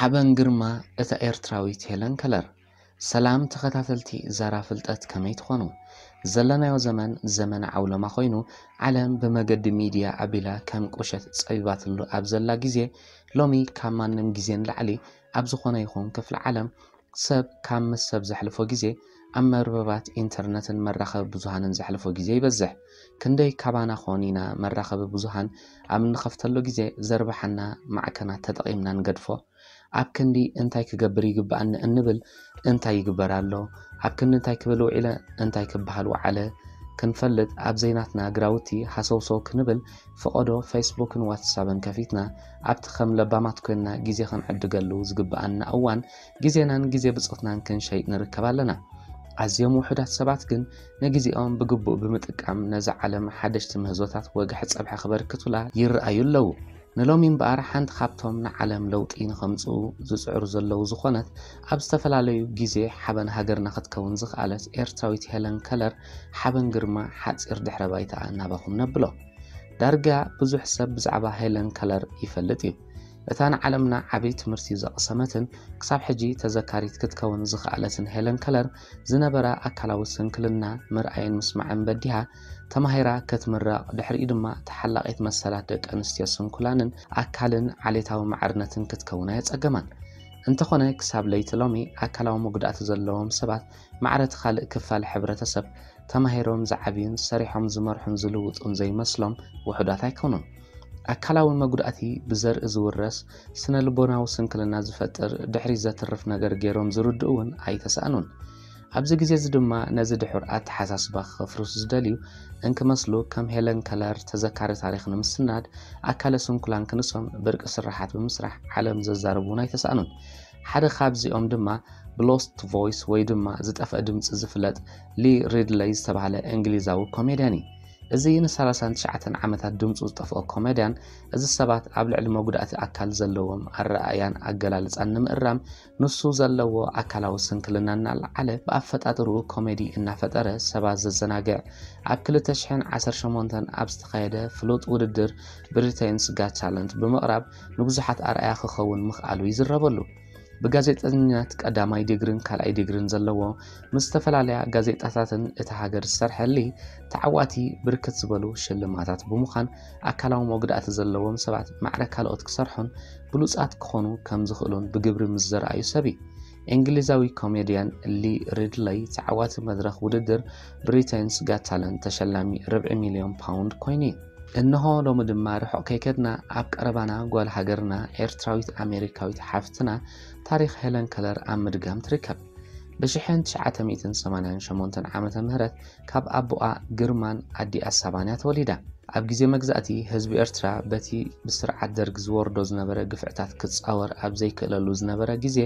ሓበን ግርማ፣ እታ ኤርትራዊት ሄለን ከለር። ሰላም ተኸታተልቲ ዛራ ፍልጠት፣ ከመይ ትኾኑ? ዘለናዮ ዘመን ዘመን ዓውለማ ኮይኑ፣ ዓለም ብመገዲ ሚድያ ኣቢላ ከም ቁሸት ጸቢባትሉ ኣብ ዘላ ግዜ፣ ሎሚ ካብ ማንም ግዜ ንላዕሊ ኣብ ዝኾነ ይኹን ክፍሊ ዓለም ሰብ ካብ ምስ ሰብ ዘሕልፎ ግዜ ኣብ መርበባት ኢንተርነትን መራኸቢ ብዙሃንን ዘሕልፎ ግዜ ይበዝሕ። ክንደይ ካባና ኾን ኢና መራኸቢ ብዙሃን ኣብ እንኸፍተሉ ግዜ ዘርብሓና ማዕከናት ተጠቒምና ንገድፎ? ኣብ ክንዲ እንታይ ክገብር ይግብኣኒ እንብል እንታይ ይግበር ኣሎ? ኣብ ክንዲ እንታይ ክብል ውዒለ እንታይ ክበሃል ወዓለ? ክንፈልጥ ኣብ ዘይናትና ግራውቲ ሃሰውሰው ክንብል ፈቐዶ ፌስቡክን ዋትሳብን ከፊትና ኣብቲ ከም ለባማት ኮይንና ግዜ ክንዕድገሉ ዝግብኣና እዋን ግዜናን ግዜ ብጾትናን ክንሸይ ንርከብ ኣለና። ኣዝዮም ውሑዳት ሰባት ግን ንግዜኦም ብግቡእ ብምጥቃም ነዛ ዓለም ሓደሽቲ ምህዞታት ወግሐ ጸብሐ ክበርክቱላ ይረኣዩ ኣለዉ። ንሎሚ እምበኣር ሓንቲ ካብቶም ንዓለም ለውጢ ንኸምጽኡ ዝጽዕሩ ዘለዉ ዝኾነት ኣብ ዝተፈላለዩ ግዜ ሓበን ሃገርና ክትከውን ዝኸኣለት ኤርትራዊት ሄለን ከለር ሓበን ግርማ ሓጺር ድሕረ ባይታኣ ናባኹም ነብሎ። ዳርጋ ብዙሕ ሰብ ብዛዕባ ሄለን ከለር ይፈልጥ እዩ። እታ ንዓለምና ዓቢ ትምህርቲ ዘቕሰመትን ክሳብ ሕጂ ተዘካሪት ክትከውን ዝኸኣለትን ሄለን ከለር ዝነበራ ኣካላዊ ስንክልና ምርኣይን ምስማዕን በዲሃ ተማሂራ ክትምረቕ፣ ድሕሪኡ ድማ ተሓላቒት መሰላት ደቂ ኣንስትዮ ስንኩላንን ኣካልን ዓሌታዊ ማዕርነትን ክትከውን ኣየጸገማን። እንተኾነ ክሳብ ለይቲ ሎሚ ኣካላዊ መጉዳእቲ ዘለዎም ሰባት ማዕረ እቲ ካልእ ክፋል ሕብረተሰብ ተማሂሮም ዝዓብዩን ሰሪሖም ዝመርሑን ዝልውጡን ዘይመስሎም ውሑዳት ኣይኮኑን። ኣካላዊ መጉዳእቲ ብዘርኢ ዝውረስ ስነ ልቦናዊ ስንክልና ዝፈጥር ድሕሪት ዘትርፍ ነገር ገይሮም ዝርድኡ እውን ኣይተሳእኑን። ኣብዚ ግዜ እዚ ድማ ነዚ ድሑር ኣተሓሳስባ ክኸፍርሱ ዝደልዩ እንክመስሉ ከም ሄለን ከለር ተዘካሪ ታሪኽ ንምስናድ ኣካለ ስንኩላን ክንሶም ብርቂ ስራሓት ብምስራሕ ዓለም ዘዛርቡ እውን ኣይተሳእኑን። ሓደ ካብዚኦም ድማ ብሎስት ቮይስ ወይ ድማ ዝጠፍአ ድምፂ ዝፍለጥ ሊ ሪድለይ ዝተባህለ እንግሊዛዊ ኮሜድያን እዩ። እዚ ን39 ዓመታት ድምፁ ዝጠፍኦ ኮሜድያን እዚ ሰባት ኣብ ልዕሊ መጉዳእቲ ኣካል ዘለዎም ኣረኣእያን ኣገላልፃን ንምእራም ንሱ ዘለዎ ኣካላዊ ስንክልና እናለዓለ ብኣፈጣጥርኡ ኮሜዲ እናፈጠረ ሰባት ዘዘናግዕ ኣብ 2018 ኣብ ዝተኻየደ ፍሉጥ ውድድር ብሪቴንስ ጋት ታለንት ብምቕራብ ንብዙሓት ኣርኣያ ክኸውን ምኽኣሉ ይዝረበሉ። ብጋዜጠኝነት ቀዳማይ ዲግሪን ካልኣይ ዲግሪን ዘለዎ ምስ ዝተፈላለያ ጋዜጣታትን እታ ሃገር ዝሰርሐ ሊ ተዓዋቲ ብርክት ዝበሉ ሽልማታት ብምዃን ኣካላዊ መጉዳእቲ ዘለዎም ሰባት ማዕረ ካልኦት ክሰርሑን ብሉጻት ክኾኑ ከም ዝኽእሉን ብግብሪ ምስ ዘርኣዩ ሰብ እዩ። እንግሊዛዊ ኮሜድያን ሊ ሪድለይ ተዓዋቲ መድረኽ ውድድር ብሪቴንስ ጋት ታለንት ተሸላሚ ርብዒ ሚልዮን ፓውንድ ኮይኑ እዩ። እንሆ ሎሚ ድማ ርሑቕ ከይከድና ኣብ ቀረባና ጓል ሃገርና ኤርትራዊት ኣሜሪካዊት ሓፍትና ታሪኽ ሄለን ከለር ኣብ ምድጋም ትርከብ። ብ1988 ዓመተ ምህረት ካብ ኣቦኣ ግርማን ኣዲኣ ሳባን እያ ተወሊዳ። ኣብ ግዜ መግዛእቲ ህዝቢ ኤርትራ በቲ ብስርዓት ደርግ ዝወርዶ ዝነበረ ግፍዕታት ክጻወር ኣብ ዘይክእለሉ ዝነበረ ግዜ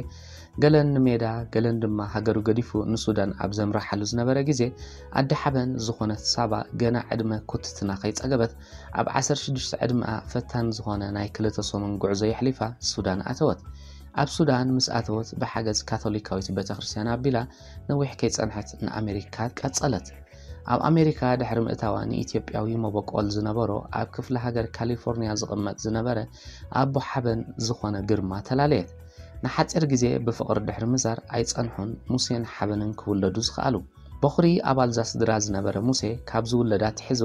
ገለን ንሜዳ ገለን ድማ ሃገሩ ገዲፉ ንሱዳን ኣብ ዘምርሓሉ ዝነበረ ግዜ ኣዲ ሓበን ዝኾነት ሳባ ገና ዕድመ ኩትትና ከይጸገበት ኣብ 16 ዕድመኣ ፈታን ዝኾነ ናይ ክልተ ሰሙን ጉዕዞ የሕሊፋ ሱዳን ኣተወት። ኣብ ሱዳን ምስ ኣተወት ብሓገዝ ካቶሊካዊት ቤተክርስትያን ኣቢላ ነዊሕ ከይጸንሐት ንኣሜሪካ ቀጸለት። ኣብ ኣሜሪካ ድሕሪ ምእታዋ ንኢትዮጵያዊ መበቆል ዝነበሮ ኣብ ክፍለ ሃገር ካሊፎርኒያ ዝቕመጥ ዝነበረ ኣቦ ሓበን ዝኾነ ግርማ ተላለየት። ንሓጺር ግዜ ብፍቕሪ ድሕሪ ምዛር ኣይጸንሑን ሙሴን ሓበንን ክውለዱ ዝኸኣሉ። በኹሪ ኣባልዛ ስድራ ዝነበረ ሙሴ ካብ ዝውለድ ኣትሒዙ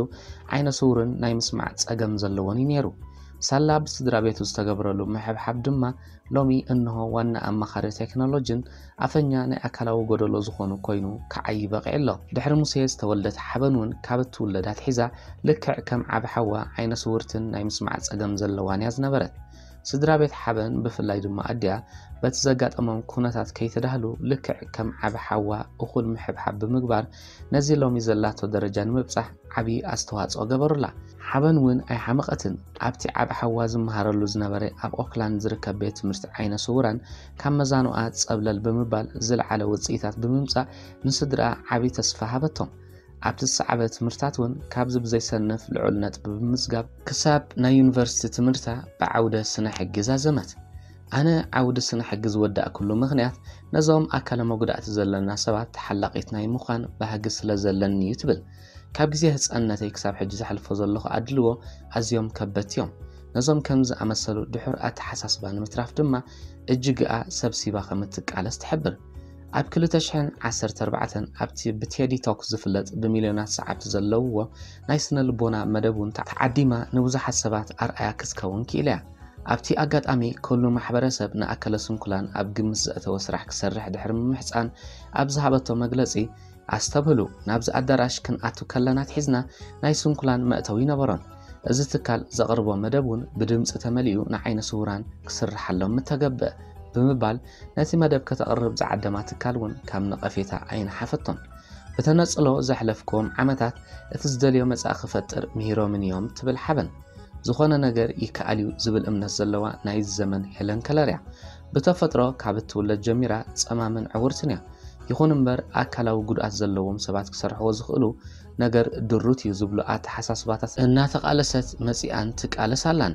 ዓይነ ስውርን ናይ ምስማዕ ጸገም ዘለዎን እዩ ነይሩ። ሳላ ብስድራ ቤቱ ዝተገብረሉ ምሕብሓብ ድማ ሎሚ እንሆ ዋና ኣማኻሪ ቴክኖሎጂን ኣፈኛ ናይ ኣካላዊ ጎደሎ ዝኾኑ ኮይኑ ክዓዪ በቒዑ ኣሎ። ድሕሪ ሙሴ ዝተወልደት ሓበን እውን ካብ እትውለድ ኣትሒዛ ልክዕ ከም ዓቢ ሓዋ ዓይነ ስውርትን ናይ ምስማዕ ጸገም ዘለዋን እያ ዝነበረት። ስድራ ቤት ሓበን ብፍላይ ድማ ኣዲኣ በቲ ዘጋጠሞም ኩነታት ከይተዳህሉ ልክዕ ከም ዓቢ ሓዋ እኹል ምሕብሓብ ብምግባር ነዚ ሎሚ ዘላቶ ደረጃ ንምብጻሕ ዓቢ ኣስተዋጽኦ ገበሩላ። ሓበን እውን ኣይሓመቐትን። ኣብቲ ዓቢ ሓዋ ዝመሃረሉ ዝነበረ ኣብ ኦክላንድ ዝርከብ ቤት ትምህርቲ ዓይነ ስውራን ካብ መዛኑኣ ጸብለል ብምባል ዝለዓለ ውጽኢታት ብምምጻእ ንስድራኣ ዓቢ ተስፋ ሃበቶም። ኣብቲ ዝሰዓበ ትምህርታት እውን ካብዚ ብዘይሰንፍ ልዑል ነጥቢ ብምምዝጋብ ክሳብ ናይ ዩኒቨርሲቲ ትምህርታ ብዓውደ ስነ ሕጊ ዛዘመት። ኣነ ዓውዲ ስነ ሕጊ ዝወዳእኩሉ ምኽንያት ነዞም ኣካለ መጉዳእቲ ዘለና ሰባት ተሓላቒት ናይ ምዃን ባህጊ ስለ ዘለኒ እዩ ትብል። ካብ ግዜ ህጻንነተይ ክሳብ ሕጂ ዘሕልፎ ዘለኹ ኣድልዎ ኣዝዮም ከበድቲ እዮም። ነዞም ከም ዝኣመሰሉ ድሑር ኣተሓሳስባ ንምትራፍ ድማ እጅግኣ ሰብሲባ ከም እትቃለስ ትሕብር። ኣብ ክልተ ሽሕን ዓሰርተ ኣርባዕተን ኣብቲ ብቴዲ ቶክ ዝፍለጥ ብሚልዮናት ሰዓብቲ ዘለውዎ ናይ ስነ ልቦና መደብ እውን ተዓዲማ ንብዙሓት ሰባት ኣርኣያ ክትከውን ክኢላ እያ። ኣብቲ ኣጋጣሚ ኩሉ ማሕበረሰብ ንኣካለ ስንኩላን ኣብ ግምት ዘእተወ ስራሕ ክሰርሕ ድሕሪ ምምሕፃን ኣብ ዝሃበቶ መግለፂ፣ ኣስተብህሉ፣ ናብዚ ኣዳራሽ ክንኣቱ ከለና ኣትሒዝና ናይ ስንኩላን መእተዊ ይነበሮን። እዚ ትካል ዘቕርቦ መደብ እውን ብድምፂ ተመሊኡ ንዓይነ ስውራን ክስርሓሎም ምተገብአ ብምባል ነቲ መደብ ከተቕርብ ዝዓደማ ትካል እውን ካብ ነቐፌታ ኣይነሓፈቶን። ብተነጽሎ ዘሕለፍክዎም ዓመታት እቲ ዝደልዮ መጻኢ ክፈጥር ምሂሮምን እዮም ትብል ሓበን። ዝኾነ ነገር ይከኣል እዩ ዝብል እምነት ዘለዋ ናይዚ ዘመን ሄለን ከለር እያ። ብተፈጥሮ ካብ እትውለድ ጀሚራ ጸማምን ዕውርትን እያ። ይኹን እምበር ኣካላዊ ጉድኣት ዘለዎም ሰባት ክሰርሕዎ ዝኽእሉ ነገር ድሩት እዩ ዝብሉ ኣተሓሳስባታት እናተቓለሰት መጺኣን ትቃለስ ኣላን።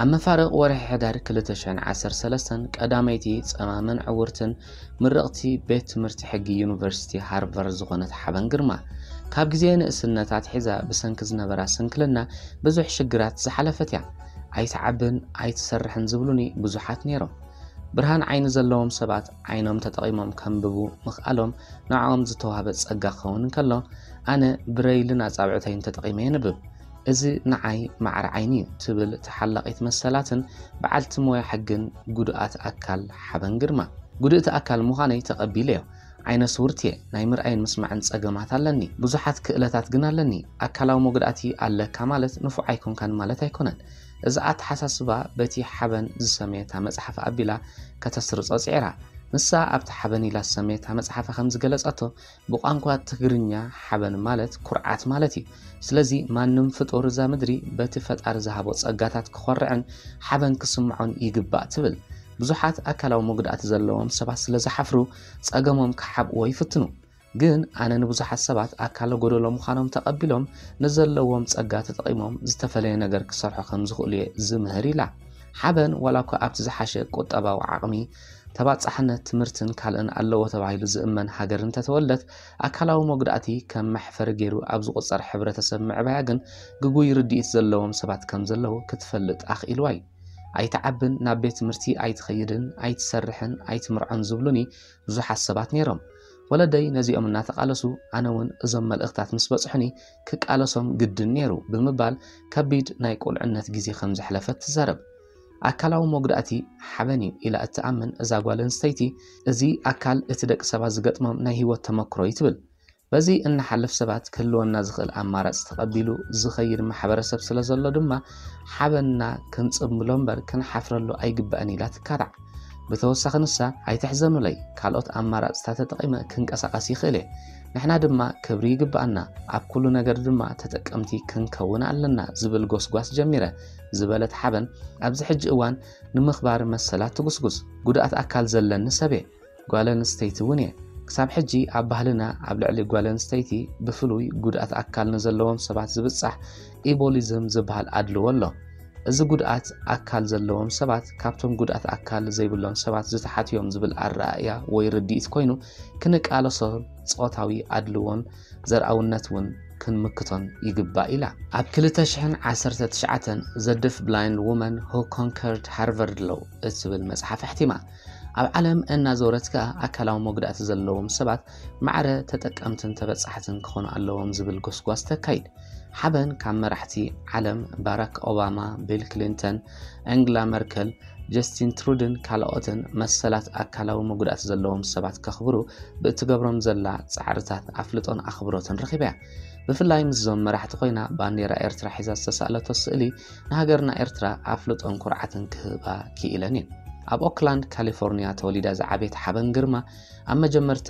ኣብ መፋርቕ ወርሒ ሕዳር ክልተ ሽሕን ዓሰርተ ሰለስተን ቀዳመይቲ ጸማምን ዕውርትን ምርቕቲ ቤት ትምህርቲ ሕጊ ዩኒቨርሲቲ ሃርቫርድ ዝኾነት ሓበን ግርማ፣ ካብ ግዜ ንእስነታ ኣትሒዛ ብሰንኪ ዝነበራ ስንክልና ብዙሕ ሽግራት ዝሓለፈት እያ። ኣይትዓብን ኣይትሰርሕን ዝብሉኒ ብዙሓት ነይሮም። ብርሃን ዓይኒ ዘለዎም ሰባት ዓይኖም ተጠቒሞም ከንብቡ ምኽኣሎም ንዕኦም ዝተዋህበ ጸጋ ክኸውን እንከሎ፣ ኣነ ብረይልን ኣጻብዕተይን ተጠቒመ የንብብ። እዚ ንዓይ ማዕረ ዓይኒ እዩ ትብል ተሓላቒት መሰላትን በዓልቲ ሞያ ሕግን ጉድኣት ኣካል ሓበን ግርማ። ጉድእቲ ኣካል ምዃነይ ተቐቢለዮ። ዓይነ ስውርት እየ። ናይ ምርኣይን ምስማዕን ጸገማት ኣለኒ። ብዙሓት ክእለታት ግን ኣለኒ። ኣካላዊ መጉዳእቲ ኣለካ ማለት ንፉዕ ኣይኮንካን ማለት ኣይኮነን። እዚ ኣተሓሳስባ በቲ ሓበን ዝሰመየታ መጽሓፍ ኣቢላ ከተስርጾ ጽዒራ። ንሳ ኣብቲ ሓበን ኢላ ዝሰመየታ መጽሓፋ ከም ዝገለጸቶ፣ ብቋንቋ ትግርኛ ሓበን ማለት ኩርዓት ማለት እዩ። ስለዚ ማንም ፍጡር እዛ ምድሪ በቲ ፈጣሪ ዝሃቦ ጸጋታት ክኾርዕን ሓበን ክስምዖን ይግባእ ትብል። ብዙሓት ኣካላዊ መጉዳእቲ ዘለዎም ሰባት ስለ ዝሓፍሩ ጸገሞም ክሓብእዎ ይፍትኑ። ግን ኣነ ንብዙሓት ሰባት ኣካለ ጎደሎ ምዃኖም ተቐቢሎም ንዘለዎም ጸጋ ተጠቒሞም ዝተፈለየ ነገር ክሰርሑ ከም ዝኽእሉ እየ ዝምህር ኢላ። ሓበን ዋላ እኳ ኣብቲ ዝሓሸ ቁጠባዊ ዓቕሚ፣ ተባጻሕነት፣ ትምህርትን ካልእን ኣለዎ ተባሂሉ ዝእመን ሃገር እንተተወልደት፣ ኣካላዊ መጉዳእቲ ከም መሕፈሪ ገይሩ ኣብ ዝቑጸር ሕብረተሰብ ምዕባያ ግን ግጉይ ርድኢት ዘለዎም ሰባት ከም ዘለዉ ክትፈልጥ ኣኽኢልዋ እዩ። ኣይትዓብን፣ ናብ ቤት ትምህርቲ ኣይትኸይድን፣ ኣይትሰርሕን፣ ኣይትምርዖን ዝብሉኒ ብዙሓት ሰባት ነይሮም። ወለደይ ነዚኦም እናተቓለሱ፣ ኣነ እውን እዞም መልእኽታት ምስ በጽሑኒ ክቃለሶም ግድን ነይሩ ብምባል ከቢድ ናይ ቁልዕነት ግዜ ከም ዘሕለፈት ትዛረብ። ኣካላዊ መጉዳእቲ ሓበን እዩ ኢላ እትኣምን እዛ ጓል ኣንስተይቲ፣ እዚ ኣካል እቲ ደቂ ሰባት ዝገጥሞም ናይ ህይወት ተመክሮ እዩ ትብል። በዚ እንሓልፍ ሰባት ክህልወና ዝኽእል ኣማራጺ ተቐቢሉ ዝኸይድ ማሕበረሰብ ስለ ዘሎ ድማ ሓበንና ክንጽምብሎ እምበር ክንሓፍረሉ ኣይግባእን ኢላ ትካታዕ። ብተወሳኺ ንሳ፣ ኣይትሕዘኑለይ፣ ካልኦት ኣማራጽታት ተጠቒመ ክንቀሳቐስ ይኽእል እየ። ንሕና ድማ ክብሪ ይግባኣና፣ ኣብ ኩሉ ነገር ድማ ተጠቀምቲ ክንከውን ኣለና ዝብል ጎስጓስ ጀሚረ ዝበለት ሓበን፣ ኣብዚ ሕጂ እዋን ንምኽባር መሰላት ትጉስጉስ። ጉድኣት ኣካል ዘለኒ ሰብ እየ፣ ጓል ኣንስተይቲ እውን እየ። ክሳብ ሕጂ ኣብ ባህልና ኣብ ልዕሊ ጓል ኣንስተይቲ ብፍሉይ ጉድኣት ኣካል ንዘለዎም ሰባት ዝብጻሕ ኢቦሊዝም ዝበሃል ኣድልዎ ኣሎ። እዚ ጉድኣት ኣካል ዘለዎም ሰባት ካብቶም ጉድኣት ኣካል ዘይብሎም ሰባት ዝተሓቱ እዮም ዝብል ኣረኣእያ ወይ ርድኢት ኮይኑ፣ ክንቃለሶን ጾታዊ ኣድልዎን ዘርኣውነት እውን ክንምክቶን ይግባእ ኢላ። ኣብ ክልተ ሽሕን ዓሰርተ ትሽዓተን The Deafblind Woman Who Conquered Harvard Law እትብል መጽሓፍ ኣሕቲማ። ኣብ ዓለም እናዞረት ከኣ ኣካላዊ መጉዳእቲ ዘለዎም ሰባት ማዕረ ተጠቀምትን ተበጻሕትን ክኾኑ ኣለዎም ዝብል ጎስጓስ ተካይድ። ሓበን ካብ መራሕቲ ዓለም ባራክ ኦባማ፣ ቢል ክሊንተን፣ ኣንግላ መርከል፣ ጀስቲን ትሩድን ካልኦትን መሰላት ኣካላዊ መጉዳእቲ ዘለዎም ሰባት ከኽብሩ ብእትገብሮም ዘላ ጻዕርታት ኣፍልጦን ኣኽብሮትን ረኺባ እያ። ብፍላይ ምስዞም መራሕቲ ኮይና ባንዴራ ኤርትራ ሒዛ ዝተሳእለቶ ስእሊ ንሃገርና ኤርትራ ኣፍልጦን ኩርዓትን ክህባ ክኢለን እየን። ኣብ ኦክላንድ ካሊፎርኒያ ተወሊዳ ዝዓበየት ሓበን ግርማ ኣብ መጀመርታ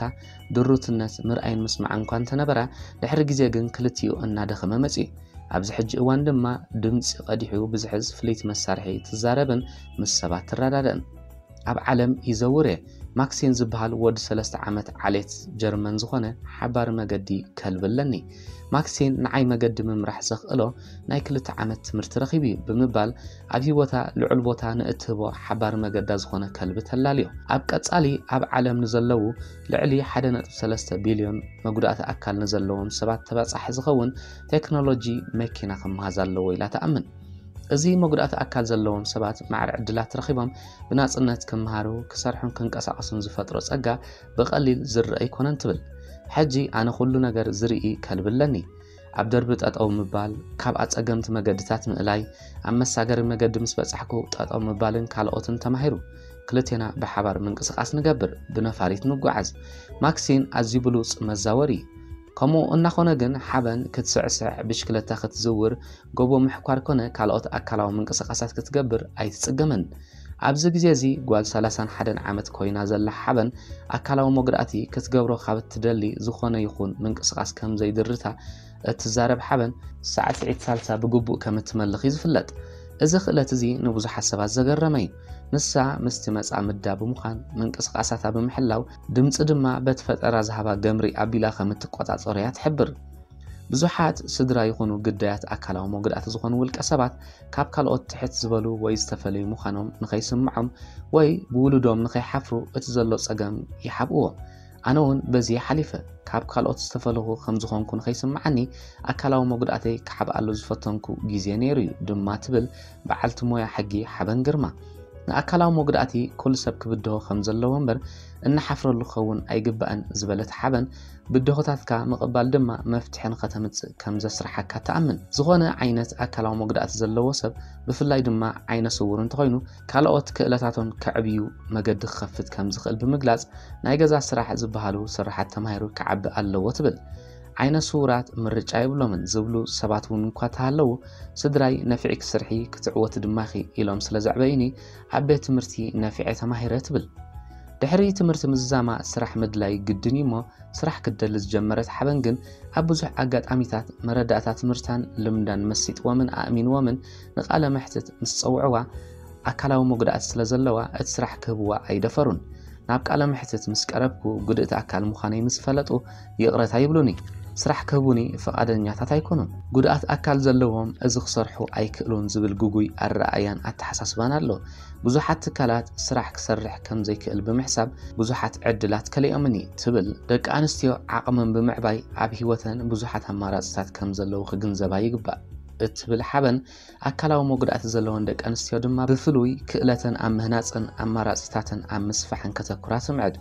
ድሩትነት ምርኣይን ምስማዕን እኳ እንተነበራ፣ ድሕሪ ግዜ ግን ክልቲኡ እናደኸመ መጺኡ። ኣብዚ ሕጂ እዋን ድማ ድምጺ ቀዲሑ ብዝሕዝ ፍልይቲ መሳርሒ ትዛረብን ምስ ሰባት ትረዳደእን። ኣብ ዓለም ይዘውር እየ። ማክሲን ዝበሃል ወዲ ሰለስተ ዓመት ዓሌት ጀርመን ዝኾነ ሓባሪ መገዲ ከልቢ ኣለኒ። ማክሲን ንዓይ መገዲ ምምራሕ ዘኽእሎ ናይ ክልተ ዓመት ትምህርቲ ረኺቡ እዩ ብምባል ኣብ ህይወታ ልዑል ቦታ ንእትህቦ ሓባሪ መገዳ ዝኾነ ከልቢ ተላልዮ። ኣብ ቀጻሊ ኣብ ዓለም ንዘለዉ ልዕሊ ሓደ ነጥቢ ሰለስተ ቢልዮን መጉዳእቲ ኣካል ንዘለዎም ሰባት ተባጻሒ ዝኸውን ቴክኖሎጂ መኪና ክመሃዝ ኣለዎ ኢላ ትኣምን። እዚ መጉዳእቲ ኣካል ዘለዎም ሰባት ማዕረ ዕድላት ረኺቦም ብናጽነት ክመሃሩ፣ ክሰርሑን ክንቀሳቐሱን ዝፈጥሮ ጸጋ ብቐሊል ዝረአ ኣይኮነን ትብል። ሕጂ ኣነ ኩሉ ነገር ዝርኢ ከልቢ ኣለኒ። ኣብ ደርቢ ጠጠው ምባል፣ ካብ ኣጸገምቲ መገድታት ምእላይ፣ ኣብ መሳገሪ መገዲ ምስ በጻሕኩ ጠጠው ምባልን ካልኦትን ተማሂሩ። ክልቴና ብሓባር ምንቅስቓስ ንገብር፣ ብነፋሪት ንጓዓዝ። ማክሲን ኣዝዩ ብሉጽ መዛወሪ እዩ። ከምኡ እናኾነ ግን ሓበን ክትስዕስዕ፣ ብሽክለታ ክትዝውር፣ ጎቦ ምሕኳር ኮነ ካልኦት ኣካላዊ ምንቅስቓሳት ክትገብር ኣይትጽገምን። ኣብዚ ግዜ እዚ ጓል ሰላሳን ሓደን ዓመት ኮይና ዘላ ሓበን ኣካላዊ መጉዳእቲ ክትገብሮ ካብ እትደሊ ዝኾነ ይኹን ምንቅስቓስ ከም ዘይድርታ እትዛረብ ሓበን ሳዕስዒት ሳልሳ ብግቡእ ከም እትመልኽ እዩ ዝፍለጥ። እዚ ክእለት እዚ ንብዙሓት ሰባት ዘገረመ እዩ። ንሳ ምስቲ መጻምዳ ብምዃን ምንቅስቓሳታ ብምሕላው ድምጺ ድማ በቲ ፈጠራ ዝሃባ ገምሪ ኣቢላ ከም እትቆጻጸሮ እያ ትሕብር። ብዙሓት ስድራ ይኹኑ ግዳያት ኣካላዊ መጉዳእቲ ዝኾኑ ውልቀ ሰባት ካብ ካልኦት ትሕት ዝበሉ ወይ ዝተፈለዩ ምዃኖም ንኸይስምዖም ወይ ብውሉዶም ንኸይሓፍሩ እቲ ዘሎ ጸገም ይሓብእዎ። ኣነ እውን በዚ ሓሊፈ። ካብ ካልኦት ዝተፈለኹ ከም ዝኾንኩ ንኸይስምዓኒ ኣካላዊ መጉዳእተይ ክሓብኣሉ ዝፈተንኩ ግዜ ነይሩ እዩ ድማ ትብል በዓልቲ ሞያ ሕጊ ሓበን ግርማ። ንኣካላዊ መጉዳእቲ ኩሉ ሰብ ክብድሆ ከም ዘለዎ እምበር እናሓፍረሉ ክኸውን ኣይግባእን ዝበለት ሓበን ብድሆታትካ ምቕባል ድማ መፍትሒ ንኸተምጽእ ከም ዘስርሓካ ትኣምን። ዝኾነ ዓይነት ኣካላዊ መጉዳእቲ ዘለዎ ሰብ ብፍላይ ድማ ዓይነ ስውር እንተኾይኑ ካልኦት ክእለታቶም ከዕብዩ መገዲ ክኸፍት ከም ዝኽእል ብምግላጽ ናይ ገዛ ስራሕ ዝበሃሉ ስራሓት ተማሂሩ ክዓቢ ኣለዎ ትብል። ዓይነ ስውራት ምርጫ የብሎምን ዝብሉ ሰባት እውን እንኳ ተሃለዉ ስድራይ ነፊዕኪ ስርሒ ክትዕወቲ ድማ ኢኺ ኢሎም ስለ ዘዕበዩኒ ኣብ ቤት ትምህርቲ ነፊዐ ተማሂረ ትብል። ድሕሪ ትምህርቲ ምዝዛማ ስራሕ ምድላይ ግድን እዩ እሞ ስራሕ ክትደሊ ዝጀመረት ሓበን ግን ኣብ ብዙሕ ኣጋጣሚታት መረዳእታ ትምህርታን ልምዳን መሲጥዎምን ኣእሚንዎምን ንቃለ መሕትት ምስ ጸውዕዋ ኣካላዊ መጉዳእቲ ስለ ዘለዋ እቲ ስራሕ ክህብዋ ኣይደፈሩን። ናብ ቃለ መሕትት ምስ ቀረብኩ ጉድእቲ ኣካል ምዃነይ ምስ ፈለጡ ይቕረታ ይብሉኒ። ስራሕ ክህቡኒ ፈቓደኛታት ኣይኮኑን። ጉድኣት ኣካል ዘለዎም እዚ ክሰርሑ ኣይክእሉን ዝብል ግጉይ ኣረኣእያን ኣተሓሳስባን ኣሎ። ብዙሓት ትካላት ስራሕ ክሰርሕ ከም ዘይክእል ብምሕሳብ ብዙሓት ዕድላት ከሊኦምኒ ትብል። ደቂ ኣንስትዮ ዓቕመን ብምዕባይ ኣብ ህይወተን ብዙሓት ኣማራፅታት ከም ዘለዉ ክግንዘባ ይግባእ እትብል ሓበን ኣካላዊ መጉዳእቲ ዘለወን ደቂ ኣንስትዮ ድማ ብፍሉይ ክእለተን ኣብ ምህናፅን ኣማራፅታተን ኣብ ምስፋሕን ከተኩራ ትምዕድ።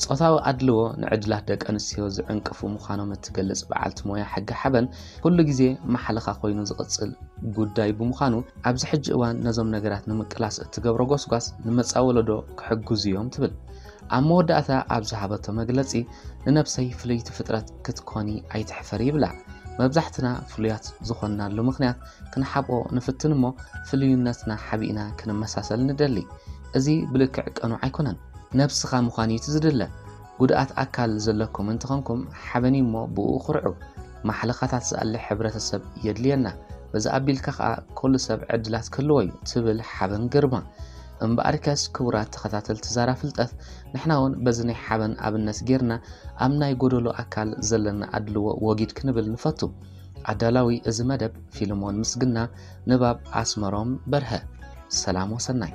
ጾታዊ ኣድልዎ ንዕድላት ደቂ ኣንስትዮ ዝዕንቅፉ ምዃኖም እትገልጽ በዓልቲ ሞያ ሕጊ ሓበን ኩሉ ግዜ ማሕለኻ ኮይኑ ዝቕጽል ጉዳይ ብምዃኑ ኣብዚ ሕጂ እዋን ነዞም ነገራት ንምቅላስ እትገብሮ ጎስጓስ ንመጻ ወለዶ ክሕግዙ እዮም ትብል። ኣብ መወዳእታ ኣብ ዝሃበቶ መግለጺ ንነብሰይ ፍልይቲ ፍጥረት ክትኮኒ ኣይትሕፈሪ ይብላ። መብዛሕትና ፍሉያት ዝኾንናሉ ምኽንያት ክንሓብኦ ንፍትን እሞ ፍልዩነትና ሓቢእና ክንመሳሰል ንደሊ። እዚ ብልክዕ ቅኑዕ ኣይኮነን። ነብስኻ ምዃን እዩ እቲ ዝድለ። ጉድኣት ኣካል ዘለኩም እንተኾንኩም ሓበኒ እሞ ብኡ ኩርዑ። ማሕለኻታት ዝኣሊ ሕብረተሰብ የድልየና። በዚ ኣቢልካ ከኣ ኩሉ ሰብ ዕድላት ክህልዎ እዩ ትብል ሓበን ግርማ። እምበኣርከስ ክቡራት ተኸታተልቲ ዛራ ፍልጠት ንሕና እውን በዚ ናይ ሓበን ኣብነት ጌርና ኣብ ናይ ጎደሎ ኣካል ዘለና ኣድልዎ ወጊድ ክንብል ንፈቱ። ኣዳላዊ እዚ መደብ ፊልሞን ምስግና፣ ንባብ ኣስመሮም በርሀ። ሰላም ወሰናይ።